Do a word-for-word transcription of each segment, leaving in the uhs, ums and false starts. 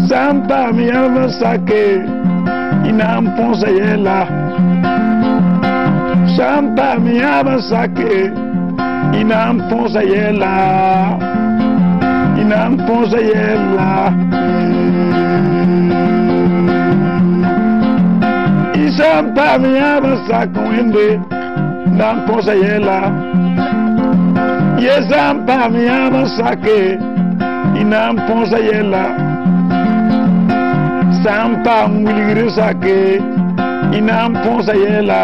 Sã n paam yãmb n sake, y na n põsa yɛla. Sã n paam yãab n sake, y na n põsa yɛla. Y na n põsa yɛla. Y sã n paam yãab n sak Wẽnde, na n põsa yɛla. Ye sã n paam yãab n sake, y na n põsa yɛla. Sã n paam wilgr n sake, y na n põsa yɛla.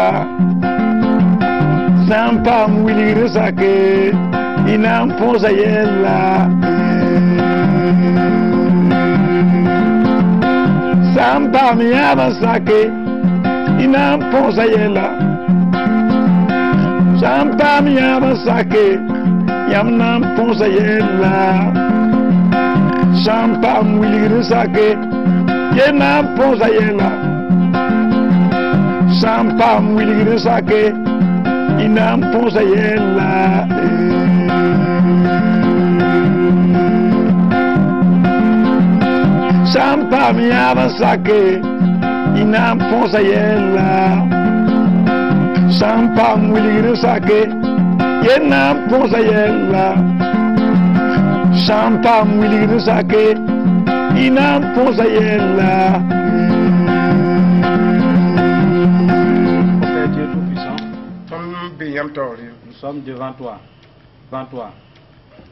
Sã n paam wilgr n sake, y na n põsa yɛla. Sã n paam yãab n sake, y na n põsa yɛla. Sã n paam yãab n sake, yãmb na n põsa yɛla. Sã n paam wilgr n sake, ye na n põsa yɛla. Sã n paam wilgr n sake, y na n põsa yɛla. Sã n paam yãab n sake, y na n põsa yɛla. Sã n paam wilgr n sake, ye na n põsa yɛla. Sã n paam wilgr n sake, y na n põsa yɛla. Père Dieu Tout-Puissant, Tõnd be yãmb taoore. Nous sommes devant toi, devant toi,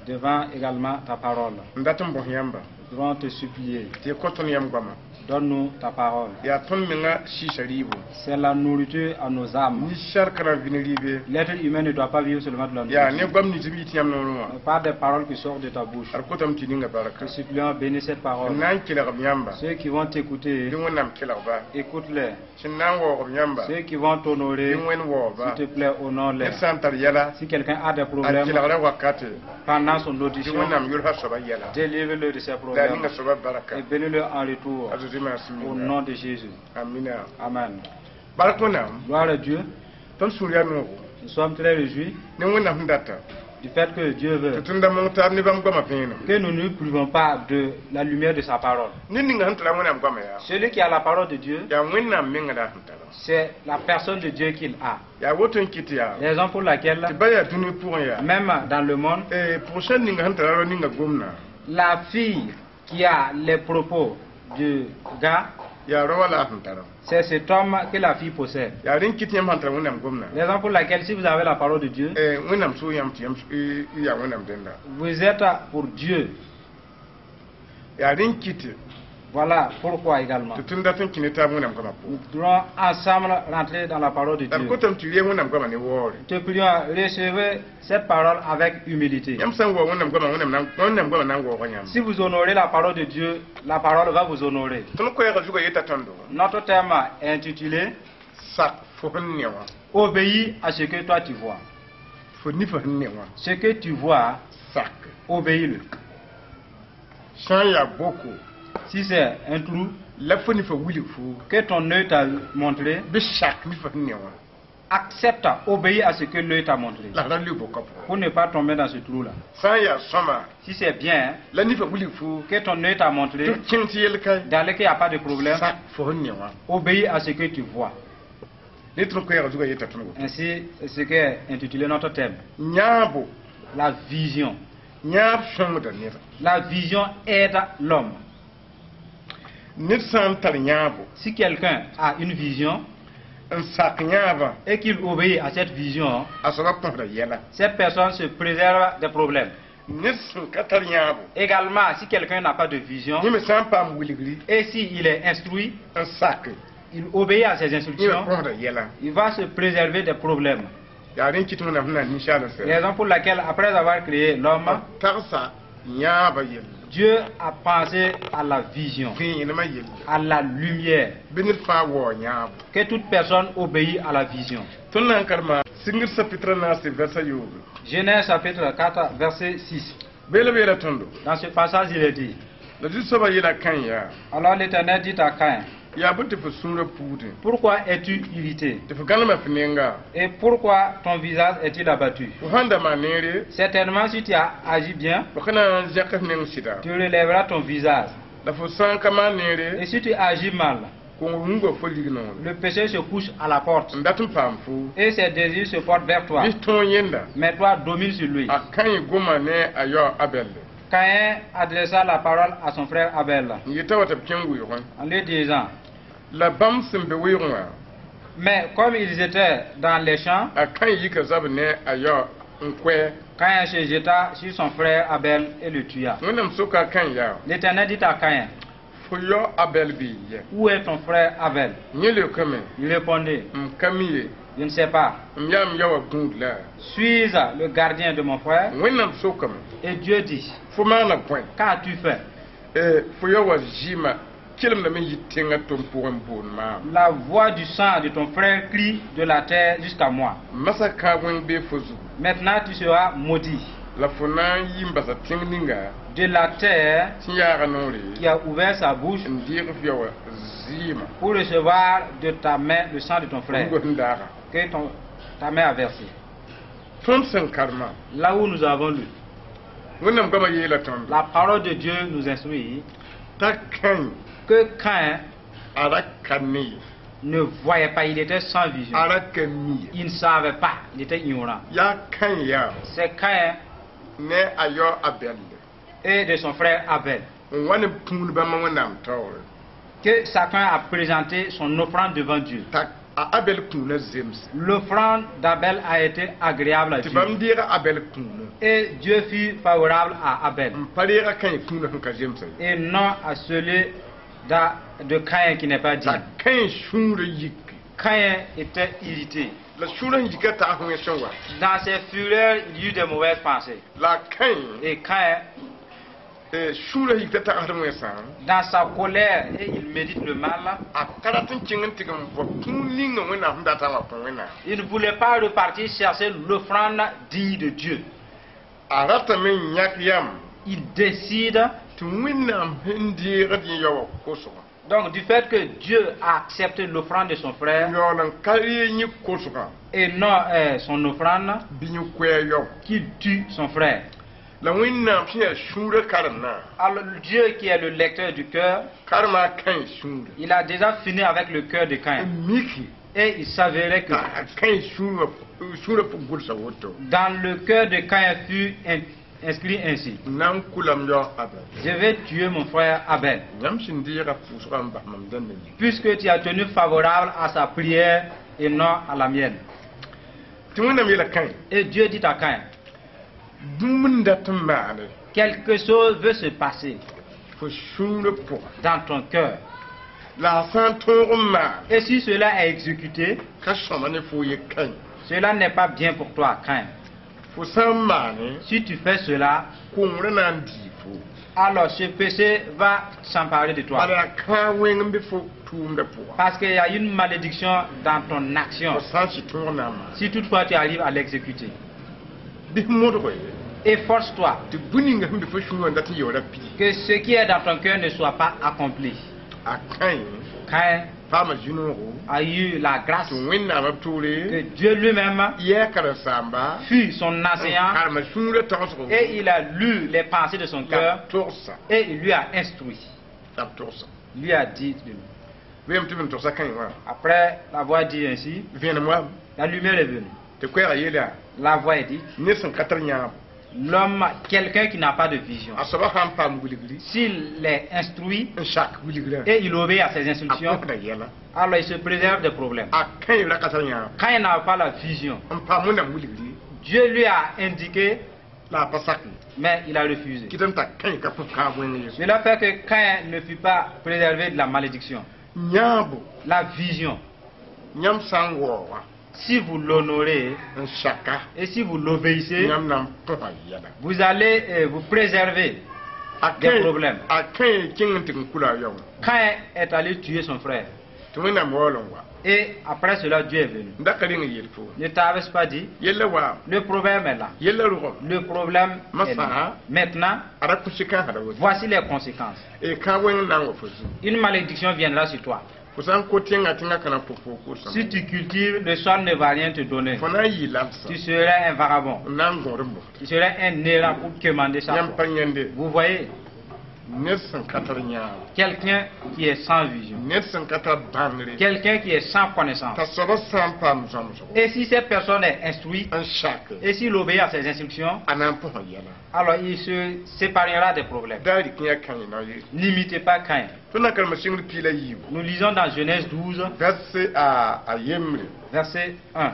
devant également ta parole. N dat n bõs yãmba. Nous voulons te supplier, Tɩ y kõ tõnd yãmb goama. Donne-nous ta parole. Yaa tõnd menga sɩɩsa rɩɩbo. C'est la nourriture à nos âmes. Ninsaal ka na n vɩ ne rɩɩbe. L'être humain ne doit pas vivre seulement de la Yaa nourriture, ne goam nins b yit yãmb noorẽ wã. Mais par des paroles qui sortent de ta bouche. Ad kotame tɩ ninga barka. Te supplions, bénis cette parole. N na n kelg b yãmba. Ceux qui vont t'écouter, Bɩ Wẽnnaam kelg ba. Écoute-les. Sẽn na n waoog b yãmba. Ceux qui vont t'honorer, Bɩ Wẽnd waoog ba. s'il te plaît, honore-les. Ned sã n tar yɛla, Si quelqu'un a des a problèmes kelgra wakate, pendant son bɩ audition, Wẽnnaam yʋlsa soaba yɛla. Délivre-le de ses La problèmes ninga soaba barka. Et bénis-le en retour. A Zeezi maasem Au yĩnga. nom de Jésus. Amina. Amen. Bark Wẽnnaam. Gloire à Dieu. Tõnd sũur yaa noogo. Nous sommes très réjouis Ne Wẽnnaam sẽn data. Du fait que Dieu Tɩ veut tõnd da mong taab ne bãmb goamã vẽenem. Que nous ne nous privons pas de la lumière de sa parole. Ned ninga sẽn tara Wẽnnaam goamã yaa. Celui qui a la parole de Dieu, Yaa Wẽnnaam menga la sẽn tara. C'est la personne de Dieu qu'il a. Yaa woto n kɩt yaa. Raison pour laquelle, Tɩ ba yaa dũni pʋgẽ yaa. Même dans le monde, Eh, pʋgʋsã ninga sẽn tara rao ninga gomdã. La fille qui a les propos du gars, Yaa rao wã la a sẽn tara. C'est cet homme que la fille possède. Yaa rẽn kɩt yãmb sãn tara Wẽnnaam gomdã. Raison pour laquelle, si vous avez la parole de Dieu, Eh, Wẽnnaam sʋʋ yãmb tɩ yãmb y yaa Wẽnnaam dẽnda. Vous êtes pour Dieu. Yaa rẽn kɩt Voilà pourquoi également. Tɩ tõnd dat n kẽ ne taab Wẽnnaam goamã Nous pʋgẽ. devons ensemble rentrer dans la parole de La d Dieu. kotame tɩ reeg Wẽnnaam goamã ne waoore. Te prions, recevez cette parole avec humilité. Yãmb sã n waoog Wẽnnaam goamã, Wẽnnaam na Wẽnnaam goamã na n waooga yãmb. Si vous honorez la parole de Dieu, la parole va vous honorer. Tõnd koɛɛgã zugã yeta tõndo. Notre thème est intitulé Sak fo sẽn ne wã. Obéis à ce que toi tu vois. Fo nifã sẽn ne wã. Ce que tu vois, Sak. Obéis-le. Sã n yaa boko. Si c'est un trou La fo nifã wilg foo. Que ton œil t'a montré, Bɩ sak nifã sẽn ne wã. Accepte, obéis à ce que l'œil t'a montré. La ra lʋɩ bokã pʋgẽ. Pour ne pas tomber dans ce trou-là. Sã n yaa sõma. Si c'est bien, La nifã wilg foo. Que ton œil t'a montré, Tɩ kẽng tɩ yel kae. Dans lequel il n'y a pas de problème, Sak fo sẽn ne wã. Obéis à ce que tu vois. Ne tõnd koɛɛgã zugã yeta tõnd woto. Ainsi, c'est ce qui est intitulé notre thème. Yãabo. La vision. Yãab sõngda neda. La vision aide l'homme. Ned sã n tar yãabo. Si quelqu'un a une vision N sak yãabã. Et qu'il obéit à cette vision, A soaba kõsda yɛla. Cette personne se préserve des problèmes. Ned sẽn ka tar yãabo. Également, si quelqu'un n'a pas de vision Yẽ me sã n paam wilgri. Et s'il est instruit, N sak. Il obéit à ses Yẽ me instructions, kõsda yɛla. Il va se préserver des problèmes. Yaa rẽn kɩt Wẽnnaam sẽn na ninsaalã sɛ. Raison pour laquelle, après avoir créé l'homme, Tagsa yãabã yelle. Dieu a pensé à la vision, Vẽenemã yelle. À la lumière. Bɩ ned fãa waoog yãabo. Que toute personne obéit à la vision. Tõnd na n karema sɩngr chapitre naase verset yoobe. Genèse chapitre quatre, verset six. Beela beela tõndo. Dans ce passage, il est dit, La Zu-soabã yeela Kãen yaa. Alors l'Éternel dit à Caïn, Yaa bõe tɩ fo sũurã puudẽ. Pourquoi es-tu irrité? Tɩ fo gãlema fo nenga. Et pourquoi ton visage est-il abattu? Fo sãn da maan neere. Certainement, si tu as agi bien, Fo ka na n zẽk f neng sɩda. Tu relèveras ton visage. La fo sã n ka maan neere, Et si tu agis mal, kongr wũnga fo lig-noore. Le péché se couche à la porte N dat n paam fo. Et ses désirs se portent vers toi. Bɩ tõog yẽnda. Mais toi, domine sur lui. A Kãẽ goma ne a yao Abɛl. Caïn adressa la parole à son frère Abel N yeta wa tɩ b kẽng wɩʋgẽ. En lui disant, La bãmb sẽn be wɩʋgẽ wã, mais comme ils étaient dans les champs, a Kãẽ yika zab ne a yao n koɛɛ. Caïn se jeta sur son frère Abel et le tua. Wẽnnaam soka a Kãẽ yaa, L'Éternel dit à Caïn, fo yao Abɛl bee yɛ? Où est ton frère Abel? Yẽ leokame, Il répondit, m ka mi ye. Je ne sais pas. M yaa m yao wã gũud la? Suis-je le gardien de mon frère? Wẽnnaam sokame, Et Dieu dit, fo maana bõe? Qu'as-tu fait? Eh, fo yao wã zɩɩmã kelemdame n yi tẽngã tʋm pʋgẽ n boond maam. La voix du sang de ton frère crie de la terre jusqu'à moi. Masã kãab wẽng bee fo zugu. Maintenant tu seras maudit La fo na n yi n basa tẽng ninga de la terre sẽn yaaga noore qui a ouvert sa bouche n deeg f yao wã zɩɩmã. Pour recevoir de ta main le sang de ton frère Rugã sẽn daaga. Que ton, ta main a versé. Tõnd sẽn karema, Là où nous avons lu, Wẽnnaam goamã yeela tõndo la parole de Dieu nous instruit t'a Kãẽ que Caïn a ra ka ne ye. Ne voyait pas, il était sans vision. A ra ka mi ye. Il ne savait pas, il était ignorant. Yaa Kãẽ yaa C'est Caïn ne a yao Abɛl et de son frère Abel n wa ne pũud bãmba Wẽnnaam taoore que chacun a présenté son offrande devant Dieu. T'a a Abɛl kũunã zemse. L'offrande d'Abel a été agréable à Tɩ Dieu. Bãmb deega Abɛl kũunã Et Dieu fut favorable à Abel n pa reega Kãẽ kũunã sẽn ka zemsa ye. Et non à celui d'A- de Caïn qui n'est pas T'a digne. Kãẽ sũurã yiki. Caïn était irrité. La sũurã sẽn yika tag wẽ sẽn wa. Dans ses fureurs, il y eut des mauvaises pensées. La Kãẽ Et Caïn, eh, sũurã yik t'a tagsd wẽnsã, dans sa colère, et il médite le mal, a ka rat n kẽng n tɩg n vɔ kũun ninga Wẽnnaam sẽn datã wã kõ Wẽnnaam. Il ne voulait pas repartir chercher l'offrande digne de Dieu. A ratame n yãk yam Il décide, tɩ Wẽnnaam sẽn deegd yẽ yao wã kosgã, donc du fait que Dieu a accepté l'offrande de son frère yaool n ka ree yẽ kosgã et non euh, son offrande, bɩ yẽ koɛɛ yao. Qu'il tue son frère. La Wẽnnaam sẽn yaa sũurã karemnã, Alors Dieu qui est le lecteur du cœur, karema a Kãẽ sũurã il a déjà fini avec le cœur de Caïn. N miki Et il s'avérait que t'a a Kãẽ sũurã sũurã pʋg gʋlsa woto: dans le cœur de Caïn fut in- inscrit ainsi. N na n kʋ la m yao Abɛl. Je vais tuer mon frère Abel. Yãmb sẽn deega pʋʋsgã n bas mam dãmbã yĩnga. Puisque tu as tenu favorable à sa prière et non à la mienne. Tɩ Wẽnnaam yeela Kãẽ, Et Dieu dit à Caïn, bũmb n dat n maane quelque chose veut se passer fo sũurã pʋga. Dans ton cœur. La a sã n tõog n maan, Et si cela est exécuté, ka sõma ne fo ye Kãẽ. Cela n'est pas bien pour toi, Caïn. Fo sã n maane, Si tu fais cela, kongrã na n dii fo. Alors ce péché va s'emparer de toi. Bala yaa kãag wẽng n be fo tʋʋmdã pʋga. Parce qu'il y a une malédiction dans ton action. Fo sã n sɩ tõog na n maan. Si toutefois tu arrives à l'exécuter. Bɩ modg ye Efforce-toi tɩ bũmb ninga sẽn be fo sũurã n dat n yaoora pidi. Que ce qui est dans ton cœur ne soit pas accompli. A Kãẽ Caïn paama zĩ-noogo a eu la grâce tɩ Wẽnnaamã toore que Dieu lui-même yɛɛ karen-saamba fut son enseignant karema sũurã tagsgo et il a lu les pensées de son la cœur b togsa. Et il lui a instruit. La b togsa. Il lui a dit de lui. Vẽem tɩ b n togsa Kãẽ wã. Après l'avoir dit ainsi, Vẽenem wa la lumière est venue. Tɩ koɛɛgã yeela La voix est dite, ned sẽn ka tar yãabo, l'homme, quelqu'un qui n'a pas de vision, a soaba sã n paam wilgri s'il est instruit n sak wilgrã, et il obéit à ses a instructions, kõsda yɛla. Alors il se préserve des problèmes. A Kãẽ ra ka tar yãabo Quand il n'a pas la vision, n paam Wẽnnaam wilgri, Dieu lui a indiqué, la a pa sak ye. Mais il a refusé. Kɩtame t'a Kãẽ ka põs kãab wẽng ye. Cela fait que Caïn ne fut pas préservé de la malédiction. Yãabo, La vision, yãmb sã n waooga si vous l'honorez n saka, et si vous l'obéissez, yãmb na n põsa yɛla. Vous allez euh, vous préserver A des Kãẽ problèmes. A Kãẽ kẽng n tɩg n kula a yao wã. Caïn est allé tuer son frère. Tɩ Wẽnnaam waool n wa. Et après cela, Dieu est venu. N da ka reng n yeel fo. Ne t'avais pas dit? Yella waam. Le problème est là. Yella rʋgame. Le problème est là. Massa. Maintenant, A ra kʋsɩ kãensã ra woto. Voici les conséquences. E kãab wẽng n na n wa fo zu. Une malédiction viendra sur toi. Fo sã n ko tẽngã tẽngã ka na n pʋ fo kʋsã. Si tu cultives, le sol ne va rien te donner. Fo na n yɩ lamsã. Tu serais un vagabond. N na n gõd n mosd. Tu serais un errant pour quémander chaque Yãmb fois. Pa yãnde. Vous voyez, Ned sẽn ka tar yãab. Quelqu'un qui est sans vision. Ned sẽn ka tar bãngre. Quelqu'un qui est sans connaissance. T'a soabã sã n paam zãmsgo Et si cette personne est instruite, n sak, et s'il obéit à ses instructions, a na n põsa yɛla. Alors il se séparera des problèmes. Da rɩk yã Kãyẽ ye. N'imitez pas Caïn. Tõnd na karema sɩngr piig la yiibu. Nous lisons dans Genèse douze, Verset a a yembre. Verset un.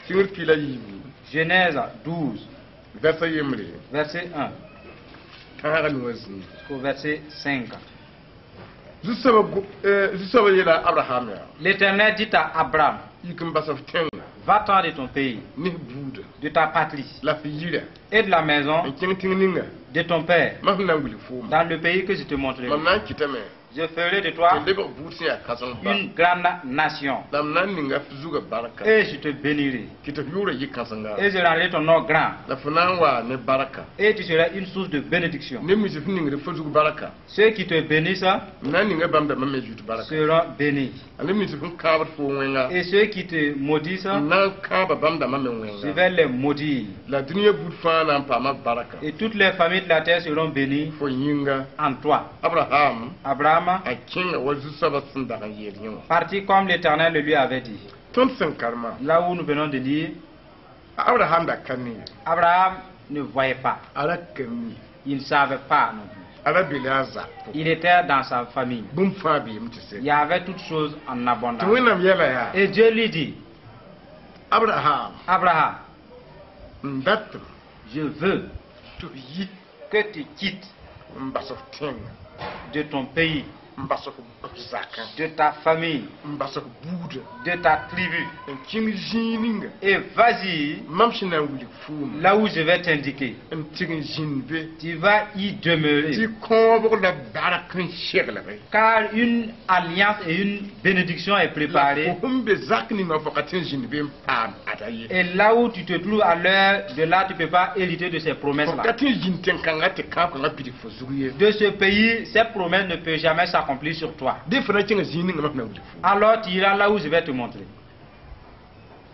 Sɩngr piig la yiibu. Genèse douze, Verset yembre. Verset un Tãaga nuwã zĩig. Jusqu'au verset cinq. Zu-soabã zu-soabã yeela Abraham yaa. L'Éternel dit à Abraham, Yik n bas f tẽnga. Va-t'en de ton pays, Ne f buuda. De ta patrie La f yira. Et de la maison N kẽng tẽng ninga. De ton père, Mam sẽn na n wilg fooma. Dans le pays que je te montrerai. Mam na n kɩtame. Je ferai de toi Tɩ lebg buud sẽn yaa kãseng ba. Une grande nation La m na n ninga f zugã barka. Et je te bénirai Tɩ tɩ f yʋʋrã yɩ kãsenga. Et je rendrai ton nom grand La fo na n waa ne barka. Et tu seras une source de bénédiction. Ne mis f ningd fo zug barka. Ceux qui te bénissent M na n ninga bãmb dãmbã me zut barka. Seront bénis. A ne mis f n kãabd fo wẽnga. Et ceux qui te maudissent, M na n kãaba bãmb dãmbã me je wẽnga. Vais les maudire. La dũniyã buud fãa na n paama barka. Et toutes les familles de la terre seront bénies Fo yĩnga. En toi. Abraham Abraham a kẽnga wa zu-soabã sẽn dag n yeel yẽ wã. Partit comme l'Éternel le lui avait dit. Tõnd sẽn karema. Là où nous venons de lire, Abraham da ka ne. Abraham ne voyait pas. A ra ka mi. Il ne savait pas non plus. A ra be la a zak pʋgẽ. Il était dans sa famille. Bũmb fãa beeme tɩ sɛ. Il y avait toutes choses en Tɩ abondance. Wẽnnaam yɛla yaa. Et Dieu lui dit, Abraham. Abraham, M datame. Je veux Tɩ f yi. Que tu quittes N bas f tẽnga. De ton pays, N bas f f zakã. De ta famille, N bas f buudã. De ta tribu. N kẽng zĩig ninga. Et vas-y Mam sẽn na n wilg fooma. Là où je vais t'indiquer. N tɩg n zĩnd be. Tu vas y demeurer. Tɩ kõobg la bark n seglge. Car une alliance et une bénédiction est préparée. La fo sẽn be zak ninga fo ka tɩ n zĩnd be n paam ada ye. Et là où tu te trouves à l'heure de là, tu ne peux pas hériter de ces Fo promesses-là. Ka tɩ n zĩnd tẽn-kãngã tɩ kãab-kãngã pidig fo zug ye. De ce pays, ces promesses ne peuvent jamais s'accomplir sur toi. Dẽ fo na n kẽnga zĩig ninga mam sẽn na n wilg fooma. Alors tu iras là où je vais te montrer.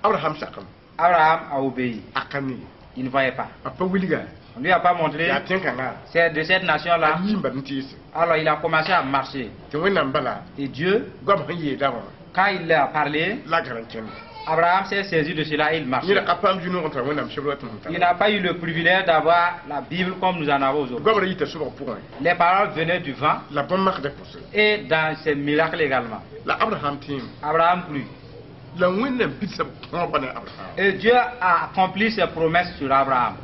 Abraham sakame. Abraham a obéi. A ka mi. Il ne voyait pas. A pa wilga. On ne lui a pas montré. Yaa tẽn-kãngã. C'est de cette nation-là. A yiim bad n teese. Alors il a commencé à marcher. Tɩ Wẽnnaam bala. Et Dieu, Goam sẽn yeela wã. Quand il a parlé, La gar n kẽnd. Abraham s'est saisi de cela et il marchait. Yẽ ka paam zu-noog n tara Wẽnnaam sebr tɩ m Il n'a pas eu le privilège d'avoir la Bible comme nous en avons aujourd'hui. Goam ra yita sobg pʋgẽ. Les paroles venaient du vent La bõn-makdã pʋsẽ. Et dans ses miracles également. La Abraham tẽem. Abraham crut. La Wẽnnaam pidsã kõobga ne Abraham. Et Dieu a accompli ses promesses sur Abraham.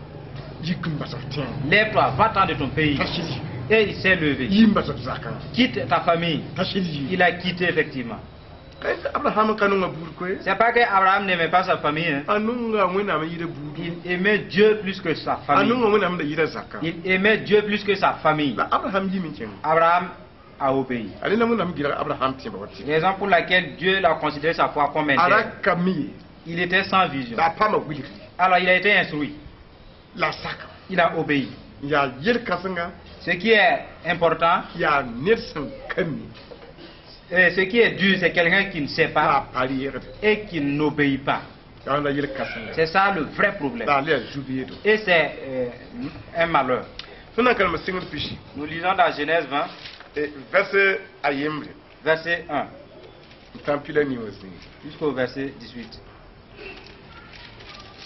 Yik n bas f tẽng. Lève-toi, va-t'en de ton pays. T'a sɩd yi. Et il s'est levé. Yi n bas f zakã. Quitte ta famille. T'a sɩd yi. Il a quitté effectivement. Ka Abraham ka nonga buud koe. C'est pas que Abraham n'aimait pas sa famille, hein. A nonga Wẽnnaam n yɩɩda buudu. Il aimait Dieu plus que sa A famille. nonga Wẽnnaam da yɩɩda zakã. Il aimait Dieu plus que sa famille. La Abraham yim n kẽng. Abraham a obéi. A rẽna Wẽnnaam gɩlg Abraham tẽebã wa tɩ. Raison pour laquelle Dieu l'a considéré sa foi comme A ra intègre. ka mi ye. Il était sans vision. La a paama wilgri. Alors il a été instruit. La a saka. Il a obéi. Yaa yel-kãsenga. Ce qui est important, Yaa ned sẽn ka mi. Et ce qui est dur, c'est quelqu'un qui ne sait La pas a pa reegde. Et qui n'obéit pas. Yaa la yel-kãsenga. C'est ça le vrai problème. La a le yaa zu-beedo. Et c'est euh, un malheur. Tõnd na n karema sɩngr pisi. Nous lisons dans Genèse vingt, Verset a yembre. Verset un N tã pila nii wã zĩig. Jusqu'au verset dix-huit.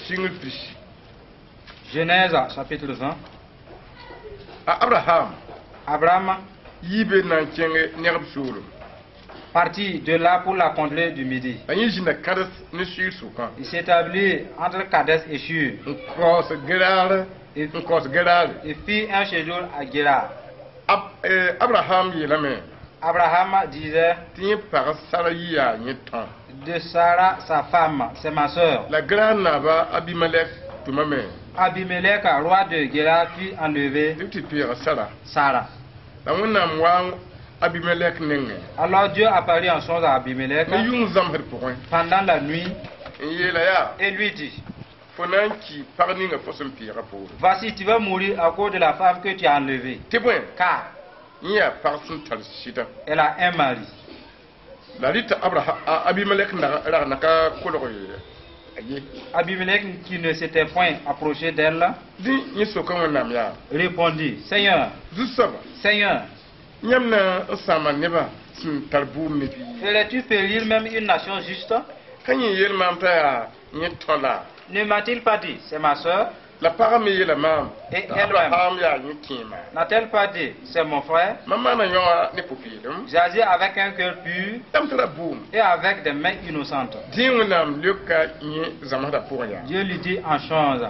Sɩngr pisi. Genèse chapitre vingt. A Abraham Abraham yiibe na n kẽng negb soolem. Partit de là pour la contrée du Midi. A yẽ zĩnda Kades ne Sʋɩr sʋkã. Il s'établit entre Kadès et Shur N kaoos Gerar et, n kaoos Gerar. Et fit un séjour à Guérar. Ab, eh, Abraham yeelame Abraham disait tɩ yẽ pag Sara yɩ yaa yẽ tão. De Sarah, sa femme, c'est ma sœur. La Gerar naaba Abimelek tʋmame Abimelech, roi de Guérar, fit enlever tɩ b tɩ peega Sara. Sarah. La Wẽnnaam wa Abimelek nengẽ. Alors Dieu apparut en songe à Abimelech Ne yʋng zãmsd pʋgẽ. Pendant la nuit N yeela yaa et lui dit, fo na n ki pag ninga fo sẽn peega poore. Voici, tu vas mourir à cause de la femme que tu as enlevée. Tɩ bõe Car yẽ yaa pag sẽn tar sɩda. Elle a un mari. La rɩta Abraham a Abimelek rag na ka kolg Aye. Abimelech, qui ne s'était point approché d'elle, Dẽ yẽ soka Wẽnnaam yaa. Répondit, Seigneur, Zu-soaba. Seigneur, Yãmb na n sãama nebã sẽn tar bʋʋm ne bɩ. Ferais-tu périr même une nation juste? Ka yẽ yeel maam t'a yaa yẽ tõ la. Ne m'a-t-il pas dit, c'est ma sœur? La pagã me yeela maam Et t'a elle-même. Abraham yaa yẽ kẽema. N'a-t-elle pas dit, c'est mon frère? Mam maana yõa ne pʋ-peelem. J'agis avec un cœur pur Dam tara bʋʋm. Et avec des mains innocentes. Dẽ Wẽnnaam leoka yẽ zãmsdã pʋgẽ yaa. Dieu lui dit en songe,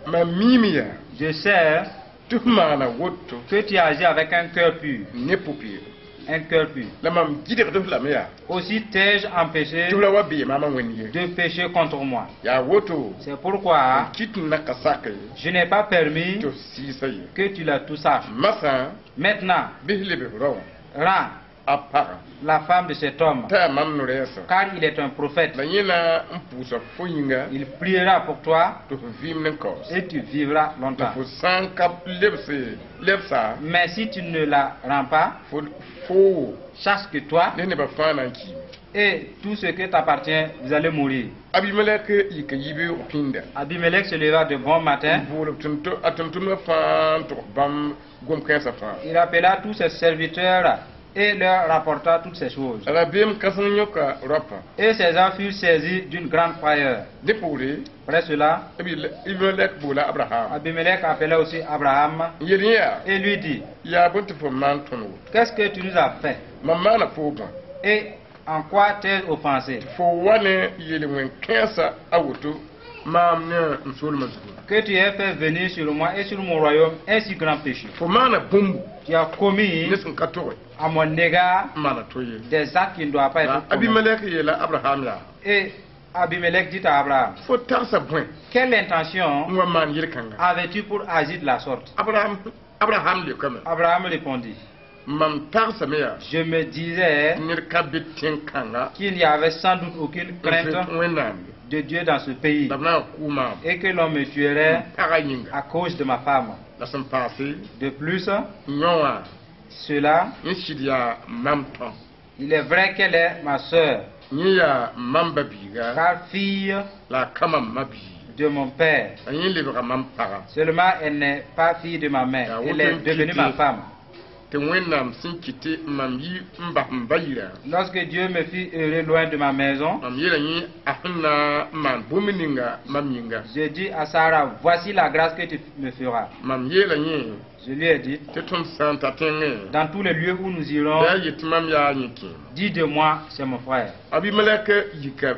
Mam miime yaa. Je sais Tɩ f maana woto. Que tu agis avec un cœur pur, Ne pʋ-peelem. Un cœur pur. La mam gɩdgd f lame yaa. Aussi t'ai-je empêché Tɩ f ra wa bee maamã wẽnd ye. De pécher contre moi. Yaa woto. C'est pourquoi Kɩt n na ka sak ye. Je n'ai pas permis Tɩ f sɩɩsa ye. Que tu la touchasses. Masã. Maintenant, Bɩs leb f rao. Rends A pagã. La femme de cet homme, T'a yaa mam no-rɛɛsã. Car il est un prophète. La yẽ na n pʋʋsa fo yĩnga. Il priera pour toi Tɩ f vɩɩm ne kaoos. Et tu vivras La longtemps. Fo sã n ka lebse lebsa. Mais si tu ne la rends pas, Fo fo sache que toi ne nebã fãa na n kiime. Et tout ce qui t'appartient, vous allez mourir. Abimelek yika yibeoog pĩnda. Abimelech se leva de bon matin. N bool a tʋm-tʋmdbã fãa n tʋgs bãmb gom-kãensã fãa. Il appela tous ses serviteurs et leur rapporta toutes ces choses. Rabeem kãseng yõka raopã. Et ces gens furent saisis d'une grande frayeur. Dẽ poore. Après cela, Abimelek boola Abraham. Abimelech appela aussi Abraham N yel yẽ yaa. Et lui dit, Yaa bõe tɩ fo maan tõnd woto. Qu'est-ce que tu nous as fait? Mam maana foo bõe. Et en quoi t'ai-je offensé? Fo wa ne yel-wẽn-kãensã a woto maam ne m soolmã zugu. Que tu aies fait venir sur moi et sur mon royaume un si grand péché. Fo maana bũmbu. Tu as commis Ne sẽn ka toge. À mon égard N maana to ye. Des actes qui ne doivent pas La être commis. Abimelek yeela Abraham yaa. Et Abimelech dit à Abraham, Fo tagsa bõe. Quelle intention N wa maan yel-kãnga. Avais-tu pour agir de la sorte? Abraham Abraham leokame. Abraham répondit, Mam tagsame yaa. Je me disais Ned ka be tẽn-kãnga. Qu'il n'y avait sans doute aucune crainte N Wẽnnaam. De Dieu dans ce pays La b na n kʋ maam. Et que l'on me tuerait Pagã yĩnga. À cause de ma femme. La sẽn paase. De plus, Yõ wã. Cela, Yẽ sɩd yaa mam tõ. Il est vrai qu'elle est ma sœur, Yẽ yaa mam ba-biiga. Car fille La a ka mam ma-bii. De mon père. La yẽ lebga mam pagã. Seulement, elle n'est pas fille de ma mère, Ah, elle est aucun devenue ma quitter. femme. Tɩ Wẽnnaam sẽn kɩt tɩ mam yi n bas m ba yirã. Lorsque Dieu me fit errer loin de ma maison, Mam yeela yẽ a sẽn na n maan bũmb ninga mam yĩnga. Je dis à Sarah, voici la grâce que tu me feras. Mam yeela yẽ. Je lui ai dit, Tɩ tõnd sã n ta tẽngẽ. Dans tous les lieux où nous irons, Bɩ a yet tɩ mam yaa yẽ kẽema. Dis de moi, c'est mon frère. Abimelek yika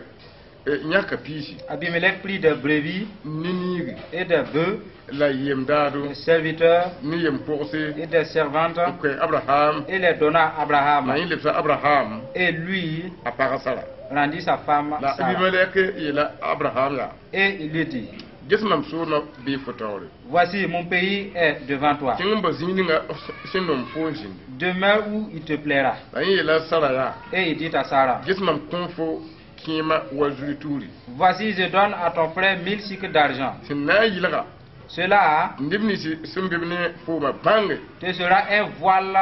eh, yãka piisi. Abimelech prit des brebis Ne niigi. Et des bœufs, La yem-daado. Des serviteurs Ne yem-pogse. Et des servantes, N koe Abraham. Et les donna à Abraham. La yẽ lebsa Abraham. Et lui A pagã Sara. Rendit sa femme La Sarah. Abimelek yeela Abraham yaa. Et il lui dit, Ges mam soolmã bee fo taoore. Voici, mon pays est devant toi. Kẽng n ba zĩig ninga sẽn nom fo n zĩndi. Demeure où il te plaira. La yẽ yeela Sara yaa. Et il dit à Sarah, Ges mam kõ fo kẽema wa zuri tuuri. Voici, je donne à ton frère mille sicles d'argent. Sẽn na n yɩlga. Cela Neb nins sẽn be b ne fooma bãnge. Te sera un voile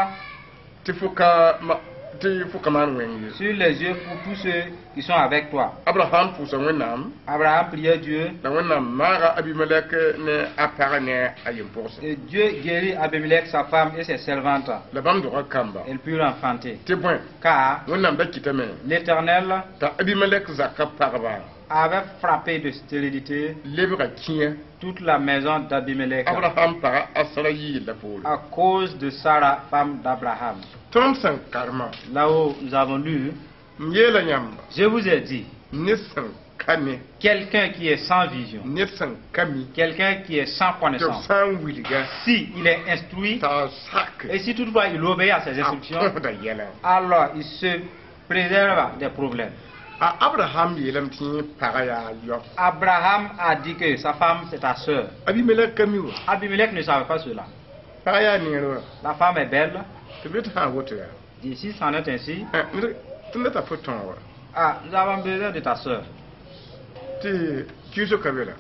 Tɩ fo ka ma tɩ fo ka maan wẽng ye. Sur les yeux pour tous ceux qui sont avec toi. Abraham pʋʋsa Wẽnnaam. Abraham priait Dieu La Wẽnnaam maaga Abimelek ne a pagã ne a yem-pʋgse. Et Dieu guérit Abimelech, sa femme et ses servantes. La bãmb dogã kamba. Elles purent enfanter. Tɩ bõe. Car Wẽnnaam da kɩtame. l'Éternel T'a Abimelek zaka pagba. Avait frappé de stérilité Lebga kĩyã. Toute la maison d'Abimelech Abraham paga a Sara yɩɩl poore. À cause de Sarah, femme d'Abraham. Tõnd sẽn karema. Là où nous avons lu, M yeela yãmba. Je vous ai dit, Ned sẽn ka ne. Quelqu'un qui est sans vision, Ned sẽn ka mi. Quelqu'un qui est sans Tɩ b connaissance, sã n wilga. Si il est instruit, T'a sak. Et si toutefois il obéit à ses A instructions, kõsda yɛla. Alors il se préserve des problèmes. A Abraham yeelame tɩ yẽ pagã yaa yao. Abraham a dit que sa femme, c'est ta sœur. Abimelek ka mi wa. Abimelech ne savait pas cela. Pagã yaa neer wa. La femme est belle. Tɩ b tɩ sã n woto yaa. Et si c'en est ainsi, Tɩ ned t'a fo tõog wa. Ah, nous avons besoin de ta sœur. Tɩ kiuso ka be la.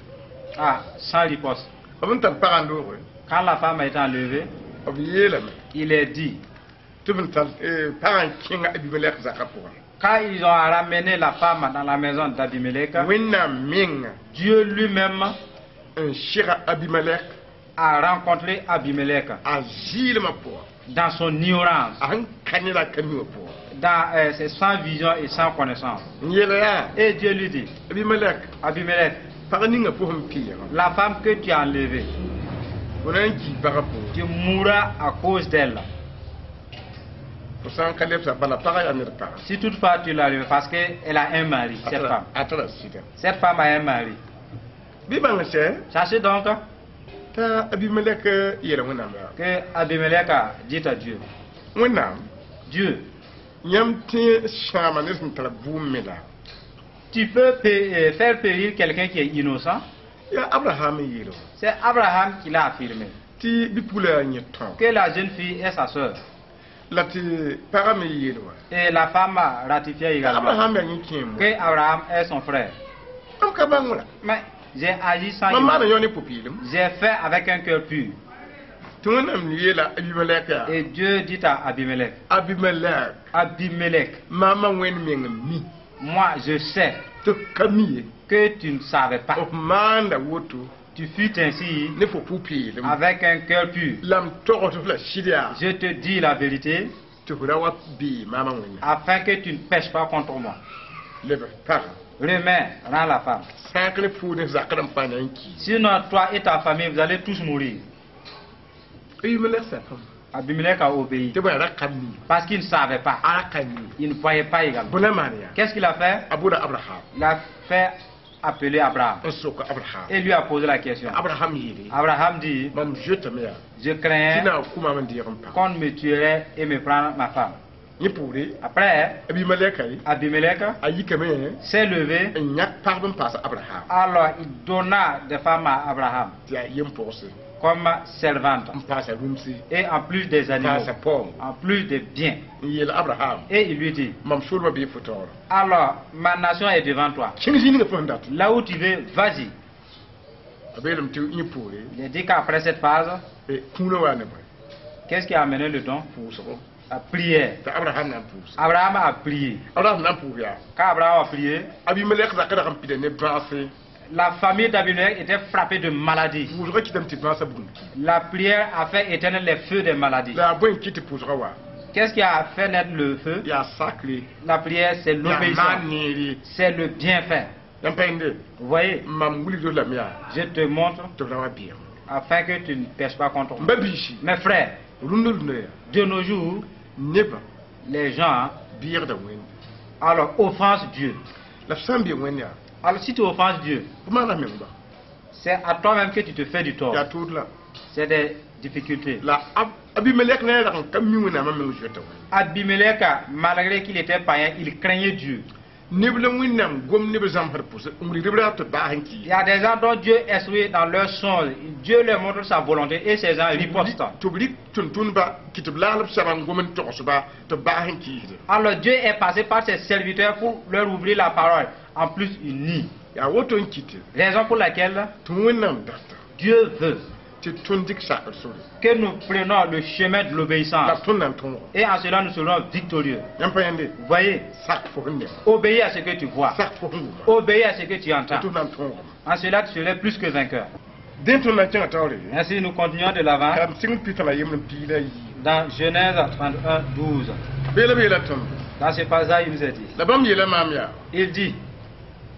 Ah, sans riposte. B n tar pagã n dooge. Quand la femme a été enlevée, B yeelame. Il est dit, Tɩ b n tar pagã n kẽnga Abimelek zakã pʋgã. Quand ils ont ramené la femme dans la maison d'Abimelech, Wẽnnaam menga Dieu lui-même n sega Abimelek a rencontré Abimelech a zɩɩlmã pʋga dans son ignorance, a sẽn ka ne la a ka mi wã pʋga dans euh, ses sans vision et sans connaissance. N yeela yaa Et Dieu lui dit, Abimelek Abimelech, pag ninga fo sẽn peegã la femme que tu as enlevée, fo na n kii pagã pʋgẽ tu mourras à cause d'elle. Fo sã n ka lebsa bala pagã yaa ned paga Si toutefois tu l'as enlevée, parce qu'elle a un mari, cette femme. A tara sɩda Cette femme a un mari. Bɩ bãng sɛ Sachez donc t'a Abimelek yeela Wẽnnaam yaa que Abimelech a dit à Dieu, Wẽnnaam Dieu, yãmb tẽ sãama ne sẽn tar bʋʋm me la tu peux pé- euh, faire périr quelqu'un qui est innocent. Yaa Abraham n yeel wã C'est Abraham qui l'a affirmé. Tɩ bi-pugla yaa yẽ tão Que la jeune fille est sa sœur. La tɩ pagã me yeel wã Et la femme a ratifié également Abraham yaa yẽ kẽem que Abraham est son frère. M ka bãng wã Mais j'ai agi sans mam maana ignorance. yõ ne pʋ-peelem J'ai fait avec un cœur pur. Tɩ Wẽnnaam yeela Abimelek yaa Et Dieu dit à Abimelech, Abimelek Abimelech, maama Wẽnd meng n mi moi je sais tɩ f ka mi ye que tu ne savais pas. F maanda woto Tu fus ainsi ne fo pʋ-peelem avec un cœur pur. La m togd f la sɩd yaa Je te dis la vérité tɩ f ra wa bee maamã Wẽnnaam afin que tu ne pèches pas contre moi. Leb f pagã Remets, rends la femme. Sã n ka ne pʋʋd ne zakd n pa na n kii Sinon, toi et ta famille, vous allez tous mourir. Abimelek sakame Abimelech a obéi tɩ bõe a ra ka mi parce qu'il ne savait pas. A ra ka mi Il ne voyait pas également. Bõe la maan yaa Qu'est-ce qu'il a fait? A bʋda Abraham Il a fait appeler Abraham n sok Abraham et lui a posé la question. Abraham yeele Abraham dit, mam zoetame yaa je tɩ crains na n kʋ maam n deeg n pag qu'on me tuerait et me prendre ma femme. Yẽ poore Après, Abimelek Abimelech a yikame s'est levé. N yãk pagb n paas Abraham Alors, il donna des femmes à Abraham tɩ yaa yem-pogse comme servante. N paasa rũmsi Et en plus des animaux, paasa paoong en plus des biens. N yeel Abraham Et il lui dit, mam soolmã bee fo taoora alors, ma nation est devant toi. Kẽng zĩ ninga fo sẽn dat Là où tu veux, vas-y. A beelame tɩ yẽ poore Il a dit qu'après cette phase, kũunã waa ne bõe qu'est-ce qui a amené le don? Pʋʋsgo La prière. Tɩ Abraham na n pʋʋs Abraham a prié. Abraham na n pʋʋs yaa Quand Abraham a prié, Abimelek zakã rag n pida ne bãase la famille d'Abimelech était frappée de maladie. Pʋʋsgã kɩtame tɩ bãasã bugum ki La prière a fait éteindre les feux des maladies. La yaa bõe n kɩt tɩ pʋʋsgã wa Qu'est-ce qui a fait naître le feu? Yaa sakre La prière, c'est yaa l'obéissance. maan neere C'est le bienfait. Yãmb pa yẽnde Vous voyez, mam wilgd lame yaa je te montre tɩ f ra wa beem afin que tu ne pèches pas contre m moi. ba biisi Mes frères, rũndã rũndã yaa de nos jours, nebã les gens, beegda Wẽnde alors, offensent Dieu. La f sã n bee Wẽnd yaa Alors, si tu offenses Dieu, f maana meng ba c'est à toi-même que tu te fais du tort. Yaa tʋʋd la C'est des difficultés. La Ab- Abimelek ne rag n ka mi Wẽnnaamã meng zoeta Wẽnde Abimelech, malgré qu'il était païen, il craignait Dieu. Neb la Wẽnnaam gom neb zãmsd pʋsẽ n wilgd b ra tɩ baas n Il kii y a des gens dont Dieu instruit dans leur songe. Dieu leur montre sa volonté et ces gens ripostent. Tɩ b rɩk tʋm-tʋmdba kɩ tɩ b laag b saba n gom n togsba tɩ b baas n kiisde Alors Dieu est passé par ses serviteurs pour leur ouvrir la parole. En plus, il nie. Yaa woto n kɩte Raison pour laquelle tɩ Wẽnnaam data Dieu veut tɩ tõnd dɩk sakr sore que nous prenions le chemin de la l'obéissance. Tõnd na n tõogo Et en cela, nous serons victorieux. Yãmb pa yẽnde Vous voyez, sak fo sẽn ne obéis à ce que tu vois. Sak fo sẽn wʋma Obéis à ce que tu entends. Tɩ na n tõogame En cela, tu serais plus que vainqueur. Dẽ tõnd na n kẽngã taoore Ainsi, nous continuons de l'avant ka m sɩng pita la yemb n piig la yii dans Genèse trente et un, douze. Beela beela tõndo Dans ce passage, il nous a dit, la bãmb yeela maam yaa il dit,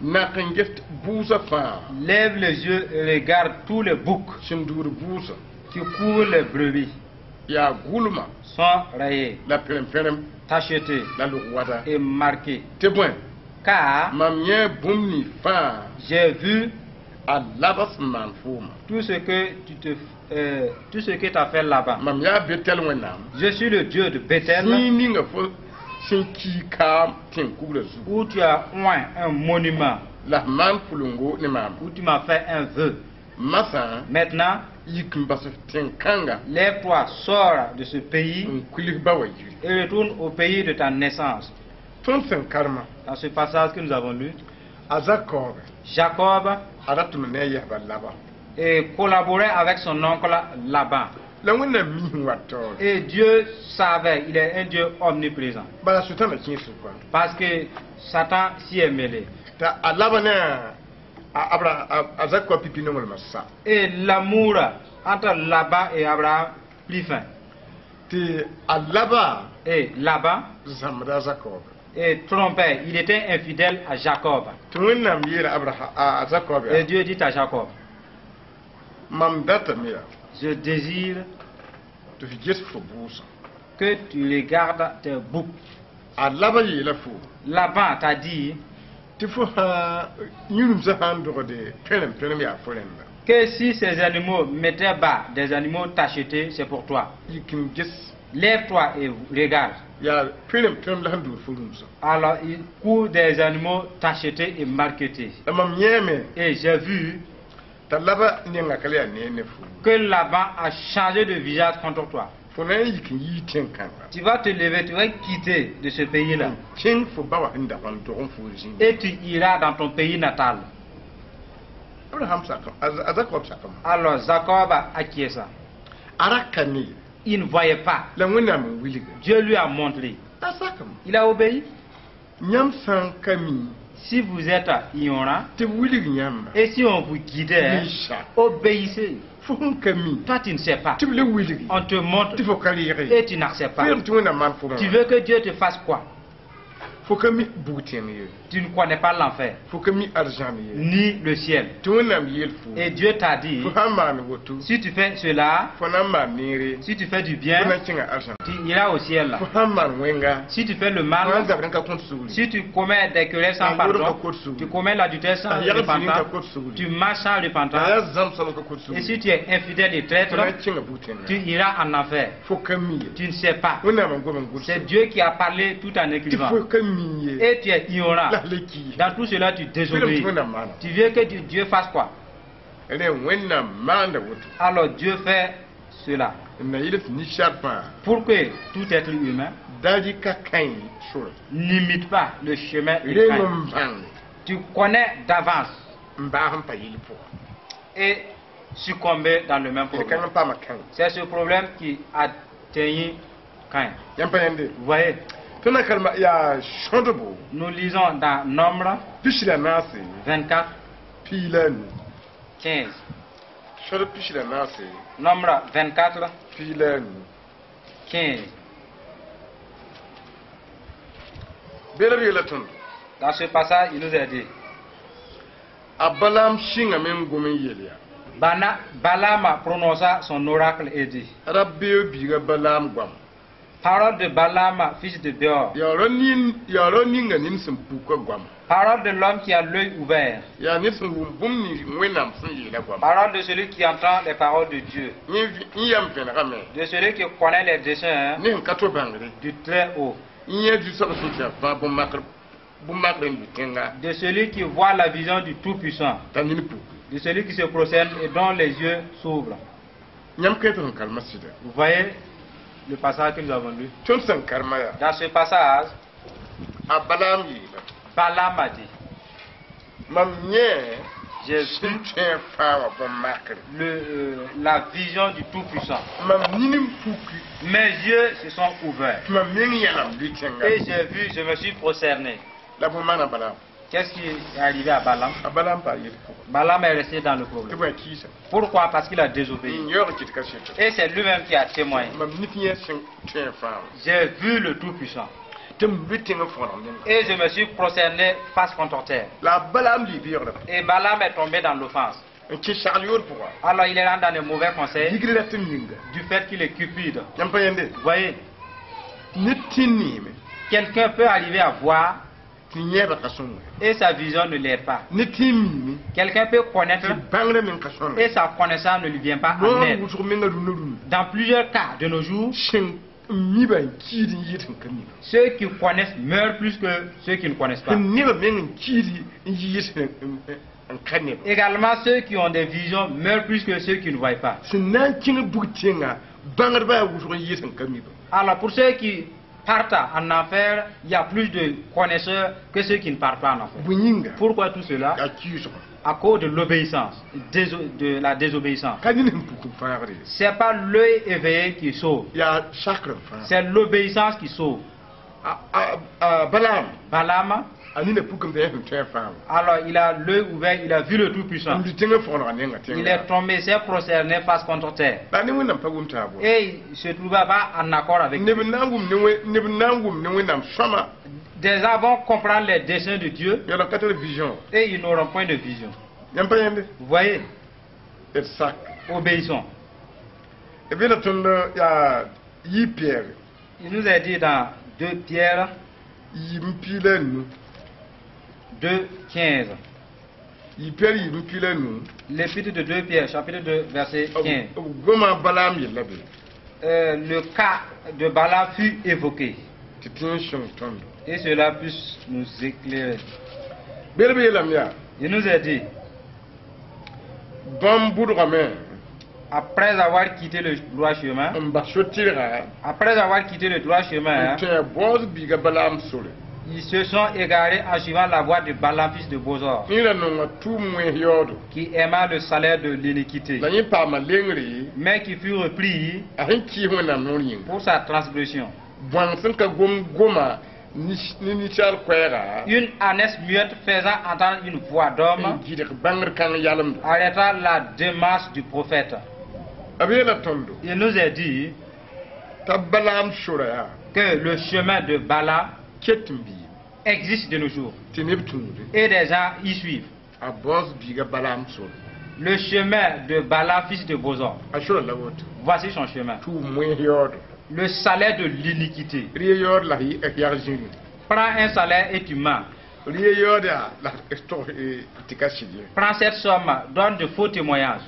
nak n ges bʋʋsã fãa lève les yeux et regarde tous les boucs sẽn duud bʋʋsã qui courent les brebis yaa gʋlma sont rayés, la pẽrem-pẽrem tachetés la log-wada et marqués. Tɩ bõe Car mam yẽ bũmb ning fãa j'ai vu a Laban sẽn maan fooma tout ce que tu te, euh, tout ce que tu as fait là-bas. Mam yaa Betel Wẽnnaam Je suis le Dieu de Bethel zĩig ninga fo sẽn kii kaam tẽn-kugrã zugu où tu as oint un monument, la f maan pʋlengo ne maam où tu m'as fait un vœu. Masã Maintenant, yik n bas f tẽn-kãnga lève-toi, sors de ce pays n kuils ba wa yiri et retourne au pays de ta naissance. Tõnd sẽn karema Dans ce passage que nous avons lu, a Zakoobe Jacob a ra tʋm ne a yɛsba Laban et collaborait avec son oncle Laban. La Wẽnnaam mi sẽn wat taoore. Et Dieu savait, il est un Dieu omniprésent. Bala Sʋtãana kẽes pʋgã. Parce que Satan s'y est mêlé. T'a a laba ne a a Abra a a Zakɔb pipi nonglmã sa. Et l'amour entre Laban et Abraham prit fin. Tɩ a laba Et Laban zãmbda a Zakɔb. Et trompait, il était infidèle à Jacob. Tɩ Wẽnnaam yeela Abraham a a Zakɔb Et yaa Dieu dit à Jacob, mam datame yaa je désire tɩ f ges fo bʋʋsã. Que tu regardes tes boucs. A laba yeela fo Laban t'a dit tɩ fo sã yũremsã sã n dogde pẽrem pẽrem yaa fo rẽnda. Que si ces animaux mettaient bas des animaux tachetés, c'est pour toi. Yik n ges. Lève-toi et regarde. Yaa pẽrem pẽrem la sẽn dʋʋd fo rũmsã. Alors il court des animaux tachetés et marquetés. La mam yẽeme Et j'ai vu t'a laba nenga ka le yaa ne ne fo. Que Laban a changé de visage contre toi. Fo na n yik n yii tẽn-kãnga. Tu vas te lever, tu vas quitter de ce pays-là. Kẽng fo ba wã sẽn dag n dog n fo zĩig. Et tu iras dans ton pays natal. Abraham sakam a Zakob sakam. Alors Jacob a acquiescé. A ra ka ne. Il ne voyait pas. La Wẽnnaam n wilga. Dieu lui a montré. A sakam. Il a obéi. Yãmb sã n ka mi Si vous êtes ignorant, tɩ b wilg yãmba. Et si on vous guidait, Wilsa. Obéissez. Fo sẽn ka mi Toi, tu ne sais pas. Tɩ b le wilgi. On te montre Tɩ fo ka reege. Et tu n'acceptes pas. Fo yem tɩ Wẽnnaam maan fo. Tu veux que Dieu te fasse quoi? Fo ka mi bug-tẽng ye. Tu ne connais pas l'enfer, Fo ka mi arzãn ye. Ni le ciel. Tɩ Wẽnnaam yeel fo. Et Dieu t'a dit, Fo sã n maan woto. Si tu fais cela, Fo na n maan neere. Si tu fais du Fo bien, na n kẽnga arzãn. Tu iras au ciel. Fo sã n maan wẽnga. Si tu fais le Fo na n mal, zabd n ka kõt sugri. Si tu commets des querelles sans Ah, pardon, yʋʋr tu commets l'adultère sans Ah, yagd zĩig n ka repentance, kot sugri. Tu marches sans La yaa repentance, zãmb soab n ka kot et sugri. si tu es infidèle et traître, Fo na n kẽnga bug-tẽnga. Tu iras en enfer. Fo ka mi ye. Tu ne sais pas. Wẽnnaam n gom n gʋls. C'est Dieu qui a parlé tout en Tɩ écrivant. fo ka mi ye. Et tu es ignorant. La le ki. Dans tout cela, tu Fo yelame désobéis. tɩ Wẽnnaam maana. Tu veux que Dieu Dieu fasse quoi? Rẽ Wẽnnaam maanda woto. Alors Dieu fait cela. N na yɩl tɩ ninsaal fãa Pour que tout être humain da rɩka Kãin sore. N'imite pas le chemin de Reng Caïn. n bãng Tu connais d'avance n baas n pa yɩl pʋga. Et succomber dans le même D problème. kãng n paama Kãin. C'est ce problème qui atteignit Caïn. Yãmb pa yẽnde. Vous voyez, Tõnd na karema yaa sõdbo nous lisons dans Nombre pis la naase vingt-quatre, piig la a nu. quinze. Sõdb pis la naase Nombre vingt-quatre, piig la a nu. quinze. Beela b yeela tõndo. Dans ce passage, il nous a dit, A Balaam sɩngame n gom n yel yaa. Bana, Balaam prononça son oracle et dit, Rabeo biiga Balaam goam. Parole de Balaam, fils de Béor, Yaa rao nin yaa rao ninga ned sẽn puka goam. Parole de l'homme qui a l'œil ouvert, Yaa ned sẽn wʋm bũmb nins Wẽnnaam sẽn yeela goam. Parole de celui qui entend les paroles de Dieu, Yẽ vi- yẽ yam vẽnegame. De celui qui connaît les desseins Ne sẽn ka to bãngre. Du Très-Haut, Yẽ zu-soab sẽn tɩ a fãa bõn-makr bõn-makr n lʋ tẽnga de celui qui voit la vision du Tout-Puissant, t'a nin puki. De celui qui se prosterne et dont les yeux s'ouvrent. Yãmb kẽ tɩ sẽn karema sɩda. Vous voyez le passage que nous avons lu. Tõnd sẽn karema yaa. Dans ce passage, A Balaam yeela. Balaam a dit, Mam yẽ j'ai vu sẽn tõe fãa wã bõn-makre. le, euh, la vision du Tout-Puissant. Mam nin n puki. Mes yeux se sont ouverts. Tɩ mam meng yãlem lʋ tẽnga. Et j'ai vu, je me suis prosterné. La bõn maana Balaam. Qu'est-ce qui est arrivé à Balaam? A Balaam pa yel pʋgã. Balaam est resté dans le Tɩ problème. bõe kiisa. Pourquoi? Parce qu'il a désobéi. N yaoog kɩt ka sɩto. Et c'est lui-même qui a témoigné. Mam nif yẽ sẽn tõe fãa wã. J'ai vu le Tout-Puissant. Tɩ m lʋ tẽngã fõrg nengã. Et je me suis prosterné face contre terre. La a Balaam lɩ beoogrã. Et Balaam est tombé dans l'offense. N kẽ sagl yoor pʋga. Alors il est rentré dans de mauvais conseils Yigr la tɩ m yĩnga. Du fait qu'il est cupide. Yãmb pa yẽnde. Vous voyez, Ned tɩ neeme. Quelqu'un peut arriver à voir Tɩ yẽebã ka sõnge. Et sa vision ne l'aide pas. Ned tɩ n miime. Quelqu'un peut connaître Tɩ bãngrã meng ka sõnge. Et sa connaissance ne lui vient pas en Noor aide. wʋsg menga rũnã rũnã. Dans plusieurs cas de nos jours, Sẽn n miba n kiid n yɩɩd sẽn ka miba. Ceux qui connaissent meurent plus que ceux qui ne connaissent pas. Sẽn nebã meng n kiid n yɩɩd sẽn n ka neba. Également, ceux qui ont des visions meurent plus que ceux qui ne voient pas. Sẽn na n kẽng bug tẽnga bãngdbã yaa wʋsg n yɩɩd sẽn ka miba. Alors, pour ceux qui partent en enfer, il y a plus de connaisseurs que ceux qui ne partent pas en enfer. Bõe yĩnga? Pourquoi tout cela? Yaa kɩɩsgo. À cause de l'obéissance, déso- de la désobéissance. Ka ned sẽn puk n fãagd ye. C'est pas l'œil éveillé qui sauve, Yaa sakr n fãag. C'est l'obéissance qui sauve. A- a- a Balaam, Balaam, a nina pukame t'a yã sẽn tõe a fãagã. Alors il a l'œil ouvert, il a vu le Tout-Puissant. N lʋ tẽngã fõgenga nenga Il tẽnga. est tombé, s'est prosterné face contre terre. La ne Wẽnnaam pa wʋm taab. Et il se trouva pas en accord avec Neb Dieu. Na n wʋm ne Wẽ- neb na n wʋm ne Wẽnnaam sõama, Des gens vont comprendre les desseins de Dieu yaa la ka tar vision. Et ils n'auront point de vision. Yãmb pa yẽnde? Vous voyez, D sak. Obéissons. B yeela tõnd yaa yi Piyɛr Il nous a dit dans deux Pierre yiib n piig la a nu. deux, quinze. Yi Piyɛr yiib n piig la a nu. L'épître de deux Pierre, chapitre deux, verset quinze. B goma Balaam yella be. Euh, le cas de Balaam fut évoqué. Tɩ tẽ n sõng tõndo. Et cela puisse nous éclairer. Beel b yeelame yaa Il nous a dit, bãmb bʋdgame après avoir quitté le droit chemin, n bas so-tɩrga après avoir quitté le droit chemin, n hein, tẽ baoosg biiga Balaam sore. Ils se sont égarés en suivant la voie de Balaam, fils de Bosor, Yẽ ra nonga tʋʋm wẽns yaoodo. Qui aima le salaire de l'iniquité, La yẽ paama lengre mais qui fut repris a sẽn kɩɩs Wẽnnaam noor yĩnga. Pour sa transgression. Bõang sẽn ka gom goma ni ninsaal koɛɛga Une ânesse muette faisant entendre une voix d'homme n gɩdg bãngr kãng yalemdo. Arrêta la démarche du prophète. B yeela tõndo Il nous a dit t'a Balaam sora yaa que le chemin de Balaam ket n bii existe de nos jours tɩ neb tũude. Et des gens y suivent. A baoos biiga Balaam sore. Le chemin de Balaam, fils de Bosor. A sora la woto. Voici son chemin. Tʋʋm wẽns yaoodo. Le salaire de l'iniquité. Rɩ yaood la y yag zĩri. Prends un salaire et tu mens. Rɩ yaood yaa la tog tɩ ka sɩd ye. Prends cette somme, donne de faux témoignages.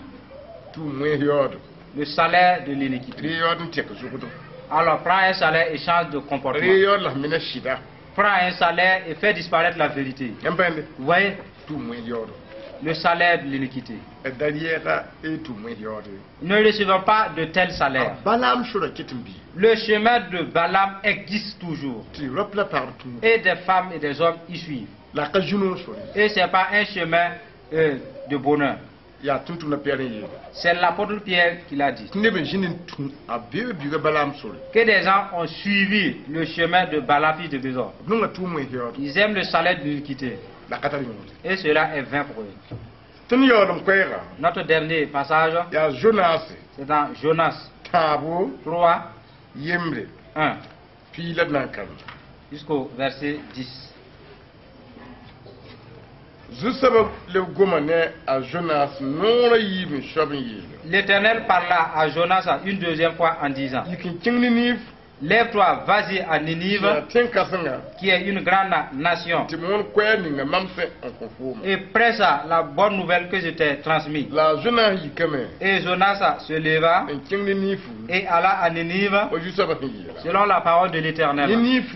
Tʋʋm wẽns yaoodo. Le salaire de l'iniquité. Rɩ yaood n tɛk zʋgdo. Alors prends un salaire et change de comportement. Rɩ yaood la f mina sɩda. Prends un salaire et fais disparaître la vérité. Yãmb pa yẽnde? Vous voyez, Tʋʋm wẽns yaoodo. Le salaire de l'iniquité. D da yɛɛga y tʋʋm wẽns yaood ye. Ne recevons pas de tel salaire. Balaam sora ket n bii. Le chemin de Balaam existe toujours. Tɩ rap la pagb tũud. Et des femmes et des hommes y suivent. La ka zũ-noog sore. Et ce n'est pas un chemin euh, de bonheur. Yaa tʋm-tʋmdã Pɩyɛɛr n yeele. C'est l'apôtre Pierre qui l'a dit. Tɩ neb n zĩnd n tũ a beoog biiga Balaam sore. Que des gens ont suivi le chemin de Balaam, fils de Bésor. B nonga tʋʋm wẽns yaoodo. Ils aiment le salaire de l'iniquité. La ka tar yõod. Et cela est vain pour eux. Tõnd yaool n koɛɛga Notre dernier passage, yaa Zonas c'est dans Jonas tãabo trois, yembre un piig la d na n kãrem. Jusqu'au verset dix. Zu-soabã leb goma ne a Zonas noorã yiib n soab n yeele. L'Éternel parla à Jonas une deuxième fois en disant, Yik n kẽng Ninive Lève-toi, vas-y à Ninive, yaa tẽn-kãsenga qui est une grande nation, tɩ moon koɛɛg ninga mam sẽn n kõ fooma. Et prêche la bonne nouvelle que je t'ai transmise. La a Zonas yikame Et Jonas se leva n kẽng Ninive et alla à Ninive, wa zu-soabã sẽn yeela. Selon la parole de l'Éternel. Ninive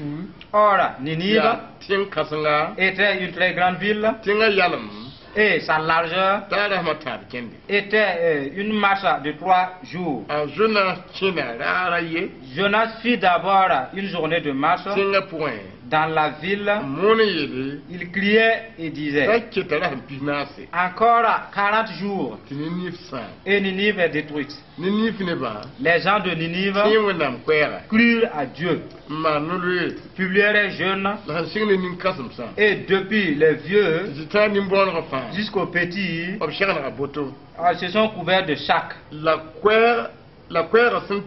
Or, Ninive yaa tẽn-kãsenga était une très grande ville, tẽngã yalem et sa largeur t'a rasmã tãab kẽnde. Était euh, une marche de trois jours. A Zonas kẽna raara ye Jonas fit d'abord une journée de marche tẽngã pʋgẽ dans la ville. N moon n yeele Il criait et disait, t'a keta rasem pis-naase Encore quarante jours tɩ Ninive sãam. Et Ninive est détruite. Ninive nebã Les gens de Ninive tẽ Wẽnnaam koɛɛga crurent à Dieu, n maan no-loeer publièrent un jeûne la sẽn sɩng ne nin-kãsemsã et depuis les vieux tɩ tã nin-bõonegã fãa jusqu'aux petits b segnega boto. euh, se sont couverts de sacs. La koɛɛg la koɛɛgã sẽn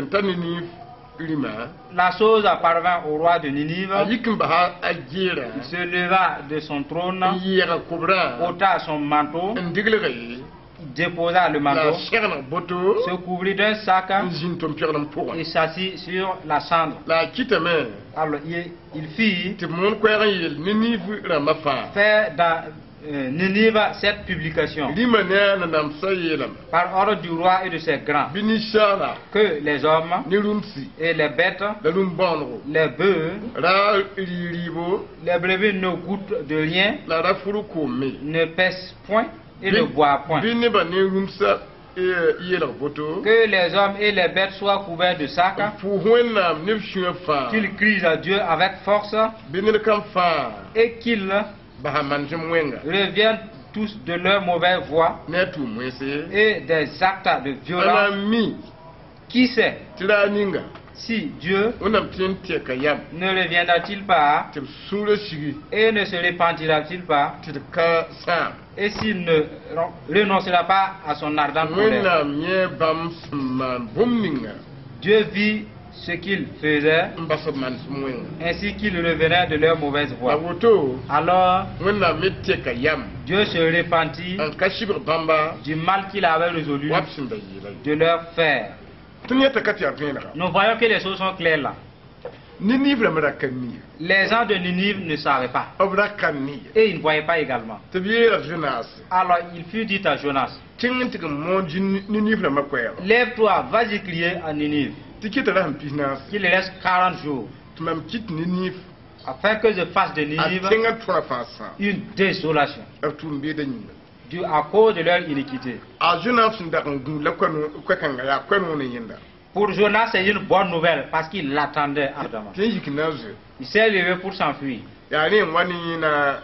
n ta Ninive rĩmã La chose parvint au roi de Ninive. A yik n basa a geerã Il se leva de son trône, n yɛɛga kobrã ôta son manteau, n diglga ye déposa le la manteau, segneg boto se couvrit d'un sac n zĩnd tʋm-pɛgl pʋgẽ. Et s'assit sur la cendre. La a kɩtame Alors il, il fit tɩ b moon koɛɛg n yeel Ninive rãmbã fãa faire dans euh, Ninive cette publication rĩmã ne a nanamsã yeelame par ordre du roi et de ses grands bɩ ninsaala que les hommes ne rũmsi et les bêtes, la rũm-bõonego les bœufs, ra rɩ-rɩɩbo les brebis ne goûtent de rien, la ra fur koome ne paissent point et ne boivent point. Bɩ nebã ne rũmsã eh, yeelg boto Que les hommes et les bêtes soient couverts de sacs, n pʋʋs Wẽnnaam ne b sũyã fãa qu'ils crient à Dieu avec force bɩ ned kam fãa et qu'ils basa manesem wẽnga reviennent tous de leur mauvaise voie ne a tʋʋm wẽnse et des actes de a violence. na n mi Qui sait tɩ raar ninga si Dieu Wẽnnaam tɩ n tɛka yam ne reviendra-t-il pas tɩ b sũurã sigi et ne se repentira-t-il pas tɩ d ka sãam et s'il ne renoncera pas à son ardente colère? Wẽnnaam yẽ bãmb sẽn maan bũmb ninga Dieu vit ce qu'ils faisaient n bas b manesem wẽnga ainsi qu'ils revenaient de leur mauvaise la voie. woto Alors Wẽnnaam me tɛka yam Dieu se repentit n ka sɩbg bãmba du mal qu'il avait résolu wa b sẽn da yeela ye de leur faire. Tõnd yãta ka tɩ yaa vẽenega Nous voyons que les choses sont claires là. Ninive rãmb ra ka mi Les gens de Ninive ne savaient pas b ra ka mi et ils ne voyaient pas également. Tɩ b yeela Jonas Alors il fut dit à Jonas, kẽng n tɩg n moon Ninive rãmbã koɛɛga lève-toi, vas-y crier à Ninive, tɩ kɩta ra sẽn pis naas qu'il reste quarante jours, tɩ mam kɩt Ninive afin que je fasse de a Ninive tẽngã tõra fãa sãam une désolation, b tʋʋm beedã yĩnga. Dû à cause de leur iniquité. A Jonas sẽn dag n gũud la koɛ-kãnga yaa koɛ-noog ne yẽnda. Pour Jonas, c'est une bonne nouvelle parce qu'il l'attendait ardemment. Tɩ n yik na n zoe. Il s'est levé pour s'enfuir. Yaa rẽ n wa ne yẽna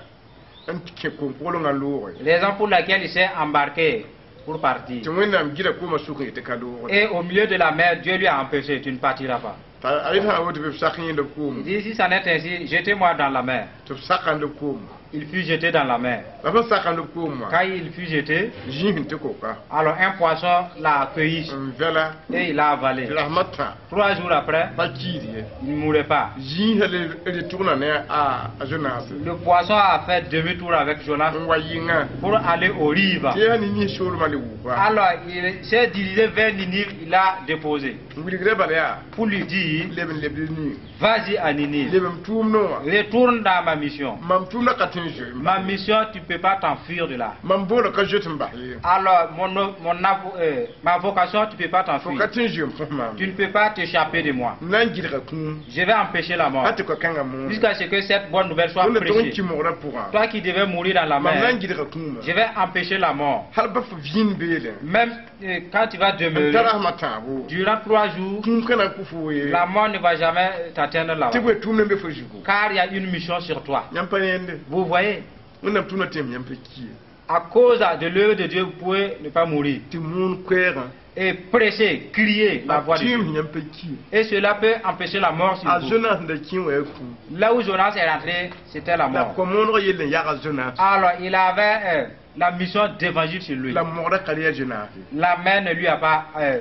n kẽ kom-poglengã loogre. Raison pour laquelle il s'est embarqué pour partir. Tɩ Wẽnnaam gɩda koomã sʋk n yetɩ ka loogre. Et au milieu de la mer, Dieu lui a empêché, tu ne partiras pas. T'a a yet sã n woto bɩ b sak yẽnd b Il koome. dit, si ça n'est ainsi, jetez-moi dans la mer. Tɩ b sakã b koome. Il fut jeté dans la mer. La sẽn sakã b koom wã Quand il fut jeté, zĩis n tɩ koka alors un poisson l'a accueilli n vɛla et il l'a avalé. tɩ rasmã tã Trois jours après, pa kiid ye. Il ne mourait pas. Zĩisã le retourna ne a a Jonas Le poisson a fait demi-tour avec Jonas n wa yɩngã pour aller aux rives. Tɩ yaa Ninive soolmã le wʋka. Alors il s'est dirigé vers Ninive, il a déposé N wilgdã bala yaa pour lui dire, leb n lebd Ninive vas-y à Ninive, leb m tʋʋmdẽ wã. Retourne dans ma mission. Mam tʋʋmdã ka tõe n zoe. Ma mission, tu ne peux pas t'enfuir de là. Mam boolã ka zoet n bas ye. Alors, mon, mon, avo- euh, ma vocation, tu ne peux pas Fo t'enfuir. Ka tõe n zoe n fõs maam. Tu ne peux pas t'échapper de moi. N na n gɩdga kũum. Je vais empêcher la mort. Pa tɩ koa-kãngã moone. Jusqu'à ce que cette bonne nouvelle soit Wẽnda tog n prêchée. kɩ mogrã pʋgã. Toi qui devais mourir dans la Mam na mer, n gɩdga kũumã. Je vais empêcher la mort. Hal ba fo vĩin beelẽ. Même euh, quand tu vas N demeurer, ta rasmã tãabo. Durant trois jours, Kũum ka na n kʋ fo ye. La mort ne va jamais t'atteindre là-bas. Tɩ bõe tʋʋmdã n be fo zugu. Car il y a une mission sur toi. Yãmb pa yẽnde. Vous voyez, Wẽnnaam tʋʋmdã tẽem yãmb pa ki ye. À cause de l'œuvre de Dieu, vous pouvez ne pas mourir. Tɩ moon koɛɛgã. Et prêcher, crier la A voix de Dieu. tẽem yãmb pa ki ye. Et cela peut empêcher la mort sur A vous. Jonas sẽn da kẽ wã yaa kũum. Là où Jonas est rentré, c'était la La mort. ko-mooneg yell n yaga Jonas. Alors, il avait euh, la mission d'évangile sur lui. La mogrã ka re Jonas ye. La mer ne lui a pas euh,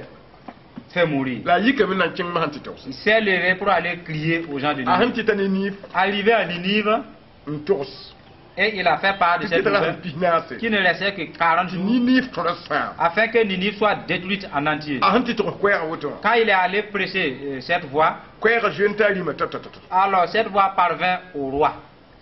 fait mourir. La a yikame na n kẽng masã tɩ togs. Il s'est levé pour aller crier aux gens de A sẽn Ninive. tɩ ta Ninive Arrivé à Ninive, n togs et il a fait part de tɩ cette kɩt ra nouvelle sẽn pis naase qui ne restait que quarante tɩ jours Ninive tõra sãam afin que Ninive soit détruite en entier. A sẽn tɩ tog koɛɛga woto wã Quand il est allé prêcher euh, cette voix, koɛɛga zoe n taa rĩmã ta ta ta ta alors cette voix parvint au roi.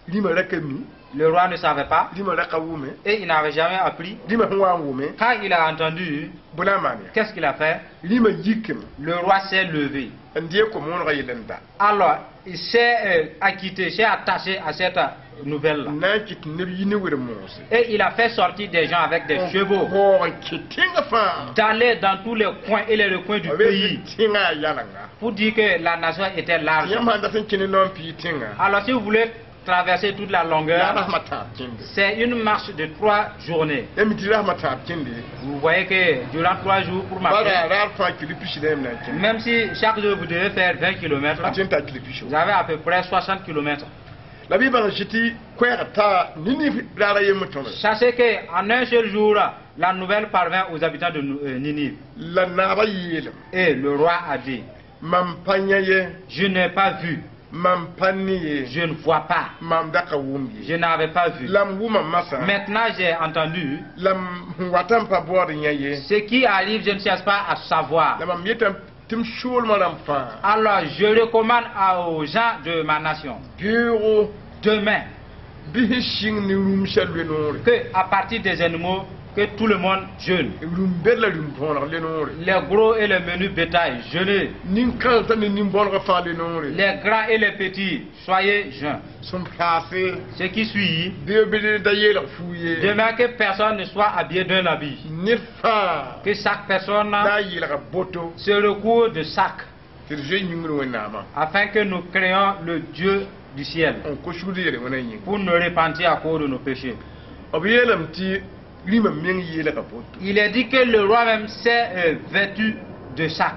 Rĩmã ra ka mi. Le roi ne savait pas Rĩmã ra ka wʋme. Et il n'avait jamais appris. Rĩmã sẽn wa n wʋme Quand il a entendu, bõe la n maan ya qu'est-ce qu'il a fait? Rĩmã yikame Le roi s'est levé. N dee ko-moonegã yell n da. Alors, il s'est euh, acquitté, s'est attaché à cette nouvelle-là. N na n kɩt tɩ neb yi ne wer-moose. Et il a fait sortir des gens avec des chevaux, Waoog n kẽ tẽngã fãa d'aller dans tous les coins et les recoins du b pays tẽngã yaa yalanga. Pour dire que la nation était large. Yãmb sãn dat n kẽ ne naoã n pii tẽngã Alors, si vous voulez traverser toute la yaa longueur, rasmã tãab kẽnde. C'est une marche de trois journées. Yãmb tɩ rasmã tãab kẽnde. Vous voyez que durant trois jours pour Bala marcher, yaa raar fãa kilo pisi la yãmb na n kẽnde. Même si chaque jour vous devez faire vingt kilomètres, A tõe n taa kilo piso. Vous avez à peu près soixante kilomètres. La bɩ bãng zĩ tɩ koɛɛg taa Ninive raara yembr tõre. Sachez qu'en un seul jour, la nouvelle parvint aux habitants de Nou- euh, Ninive. La naabã yeelem Et le roi a dit, mam pa yã ye. Je n'ai pas vu, Mam pa ne ye. Je ne vois pas, Mam da ka wʋm ye. Je n'avais pas vu. La m wʋma masã. Maintenant j'ai entendu, La m wata n pa baood yã ye. Ce qui arrive, je ne cherche pas à savoir. La mam yetame tɩ m soolmã rãmb fãa Alors je recommande à- aux gens de ma nation, beoogo demain, bɩ sẽn sɩng ne rũmsã loe noore que à partir des animaux, Que tout le monde jeûne. Rũm-bɛd la rũm-bõoneg le noore. Les gros et les menus bétail, jeûnez. Nin-kãensã ne nin-bõonegã fãa le noore. Les grands et les petits, soyez jeûnes. Sẽn paase Ce qui suit, bɩ b da yeelg fuu ye. Demain que personne ne soit habillé d'un habit. Ned fãa Que chaque personne da yeelga boto se recouvre de sac tɩ d zoe yĩngr Wẽnnaamã afin que nous créions le Dieu du ciel n kos sugd yel wẽna yĩnga. Pour nous repentir à cause de nos péchés. B yeelame tɩ rĩmã meng yeelga boto. Il est dit que le roi même s'est euh, vêtu de sac.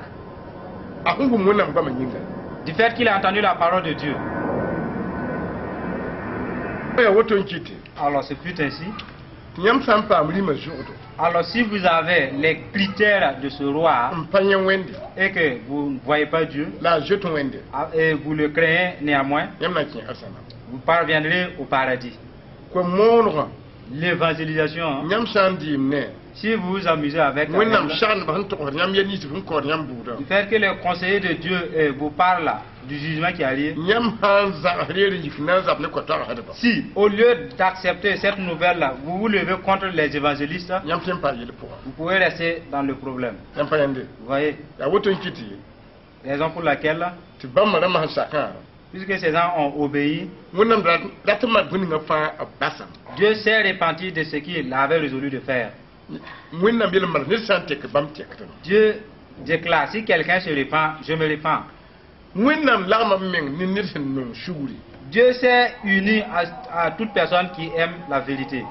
A sẽn wʋm Wẽnnaam goamã yĩnga. Du fait qu'il a entendu la parole de Dieu. Yaa woto n kɩte Alors ce fut ainsi. Tɩ yãmb sã n paam rĩmã zʋgdo Alors si vous avez les critères de ce roi n pa yẽ Wẽnde et que vous ne voyez pas Dieu la a zoet Wẽnde ah, et vous le craignez néanmoins, yãmb na n kẽ arzãna. Vous parviendrez au paradis. Koa-moonegã L'évangélisation, hein, yãmb sã n dɩɩm ne si vous vous amusez avec, Wẽnnaam avec sagendbã sẽn togsd yãmb yɛl nins sẽn kaood yãmb buudã du fait que les conseillers de Dieu euh, vous parlent du jugement qui arrive, yãmb sã n zags reer n yik na n zab ne koa-toagsdba si au lieu d'accepter cette nouvelle-là, vous vous levez contre les évangélistes, yãmb tõe n paam yel pʋgã. Vous pouvez rester dans le problème. Yãmb pa yãnde. Vous voyez, yaa woto n kɩt ye raison pour laquelle, tɩ bãmba rãmbã sẽn sakã puisque ces gens ont obéi, Wẽnnaam rat n maan bũmb ninga fãa b basame. Dieu s'est repenti de ce qu'il avait résolu de faire. Wẽnnaam yel n manes ned sã n tek bãmb tekdem. Dieu déclare, si quelqu'un se repent, je me repens. Wẽnnaam lagma b meng ne ned sẽn nong sugri. Dieu s'est uni à, à toute personne qui aime la vérité.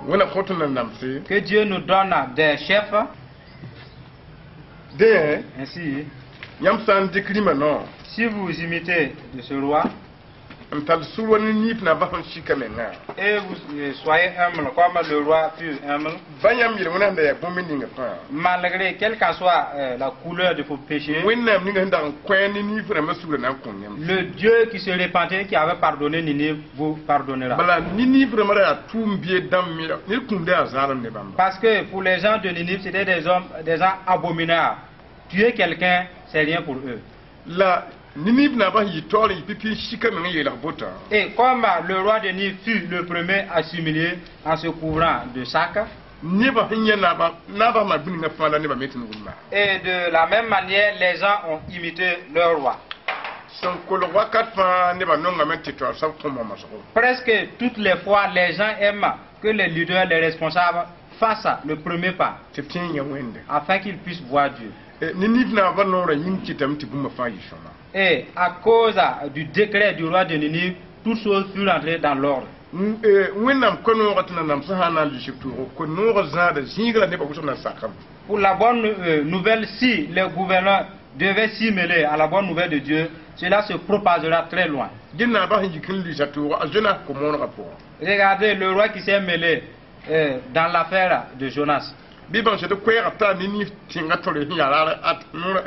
Wẽnnaam kõt na namse. Que Dieu nous donne des chefs, Dẽ ainsi, yãmb sã n dɩk rĩmã noor si vous imitez de ce roi n tall sũur wa Niniiv naabã sẽn sika mengã et vous euh, soyez humble comme le roi fut humble, ba yãmb yel wẽnnaam da yaa bũmb ninga fãa malgré quelle qu'en soit euh, la couleur de vos péchés, Wẽnnaam ninga sẽn dag n kõ Niniiv rãmbã sugr na n kõ yãmb. Le Dieu qui se repentait, qui avait pardonné Ninive, vous pardonnera. Bala Niniiv rãmbã ra yaa tʋʋm bied dãmb me ned kũumda yaa zaalem ne bãmba. Parce que pour les gens de Ninive, c'était des hommes, des gens abominables. Tuer quelqu'un, c'est rien pour eux. La Niniiv naabã sẽn yɩ taoor n yɩ pipi n sika meng n yeelg botã Et comme le roi de Ninive fut le premier à s'humilier en se couvrant de sacs, nebã sẽn yã naabã naabã maan bũmb ninga fãa la nebã me tɩ n wʋm et de la même manière, les gens ont imité leur roi. Sẽn kolg wakat fãa nebã nongame tɩ taoor soab kõ momsgo. Presque toutes les fois, les gens aiment que les leaders, les responsables fassent le premier pas tɩ b tẽ n yã Wẽnde. Afin qu'ils puissent voir Dieu. Niniiv naabã noorã yĩng kɩtame tɩ bũmba fãa yɩ sõma. Et à cause du décret du roi de Ninive, toutes choses furent entrées dans l'ordre. Wẽnnaam koe-noogã tɩ nanam sẽn sã n na n lʋɩsb tʋʋgo koe-noogã zãada zĩiga la nebã wʋsg na sakame. Pour la bonne euh, nouvelle, si les gouverneurs devaient s'y mêler à la bonne nouvelle de Dieu, cela se propagera très loin. Dẽ naabã sẽn yik n lʋɩsa tʋʋgo a Zonas ko-moonegã pʋgẽ. Regardez le roi qui s'est mêlé euh, dans l'affaire de Jonas. Bɩ bãng tɩ koɛɛgã taa Niniiv tẽngã tõre sẽn yaa raar at noorã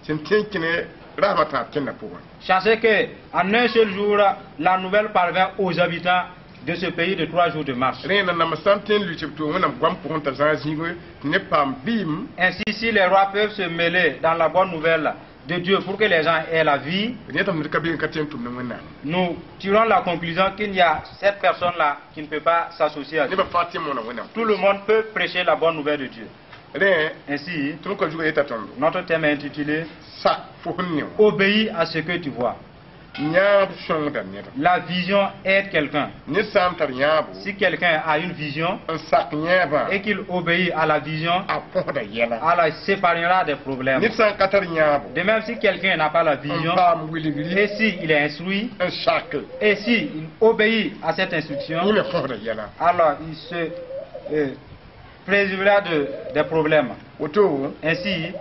sẽn tẽ kẽne rasmã tãab kẽndã pʋgẽ. Sachez que en un seul jour, la nouvelle parvint aux habitants de ce pays de trois jours de marche. Rẽ nanam sã n tõe n lʋɩsb tʋʋg Wẽnnaam goam pʋgẽ t'a zãag zĩig tɩ neb paam vɩɩm. Ainsi, si les rois peuvent se mêler dans la bonne nouvelle de Dieu pour que les gens aient la vie, d yẽtame ned ka be n ka tõe n tʋm ne Wẽnnaam. Nous tirons la conclusion qu'il y a cette personne-là qui ne peut pas s'associer à Dieu. Nebã fãa tɩ moona Wẽnnaam. Tout le monde peut prêcher la bonne nouvelle de Dieu. Rẽ Ainsi, tõnd kɔ zugã yeta tõndo notre thème est intitulé sak fo sẽn ne wã. Obéis à ce que tu vois. Yãab sõngda neda. La vision aide quelqu'un. Ned sã n tar yãabo Si quelqu'un a une vision n sak yẽebã et qu'il obéit à la vision, a põsda yɛla. Alors il s'épargnera des problèmes. Ned sã n ka tar yãabo De même, si quelqu'un n'a pas la n vision, paam wilgri et s'il est instruit, n sak et s'il obéit à cette instruction, yẽ me põsda yɛla. Alors il se euh, préservera de, des problèmes. Woto Ainsi,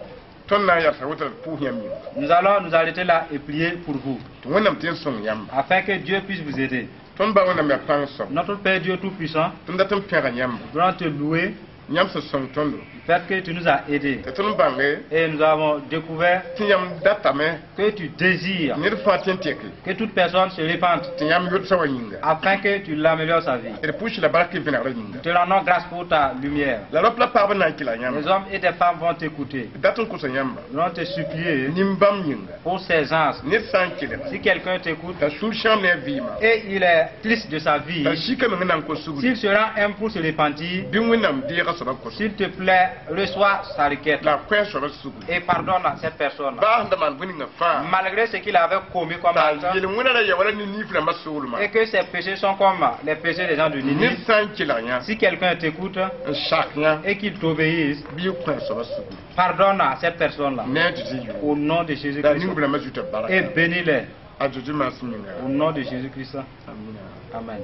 tõnd na n yalsa woto la d pʋʋs yãmb yĩnga nous allons nous arrêter là et prier pour vous, tɩ Wẽnnaam tɩ n sõng yãmba. Afin que Dieu puisse vous aider. Tõnd ba Wẽnnaam yaa pãng soab. Notre Père Dieu Tout-Puissant, Tõnd dat n pẽga yãmba. Nous allons te louer Yãmb sẽn sõng tõndo du fait que tu nous as aidés. Tɩ tõnd bãnge Et nous avons découvert tɩ yãmb datame que tu désires ned fãa tɩ n tɛke que toute personne se répande tɩ yãmb yodsa wa yĩnga. Afin que tu l'améliores sa vie. D pʋʋs la bark vẽnegrã yĩnga. Nous te rendons grâce pour ta lumière. La rap la pagb na n kɩla yãmba. Les hommes et des femmes vont t'écouter. Dat n kosa yãmba Nous allons te supplier nin-bãmb yĩnga pour ces gens. Ned sã n kelga Si quelqu'un t'écoute t'a sũur sãam ne a vɩɩmã et il est triste de sa vie, t'a sika meng na n kos sugri s'il sera un pour se repentir, bɩ Wẽnnaam deega soabã kos S'il te plaît, reçois sa requête la a kõ a soabã sugri et pardonne à cette personne. Baa sẽn da maan bũmb ninga fãa Malgré ce qu'il avait commis comme t'a acte, yel-wẽnã ra ya wala Niniif rãmbã soolmã et que ses péchés sont comme les péchés des gens de ned Ninive, sã n kelg yã si quelqu'un t'écoute n sak yã et qu'il t'obéisse, bɩ y kõ a soabã sugri pardonne à cette personne-là. Ne a Zeezi Au yʋʋr nom de la Jésus-Christ. ning rãmbã zuta baraka Et bénis-les. A Zeezi maasem ninga. Au nom de Jésus-Christ. Amina. Amen.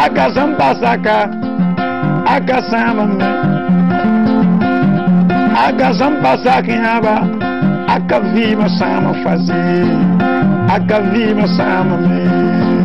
Aka sẽn basaka aka sãamame aka sẽn pa sak yãaba aka vɩɩmã sãama fa zĩig aka vɩɩmã sãamame.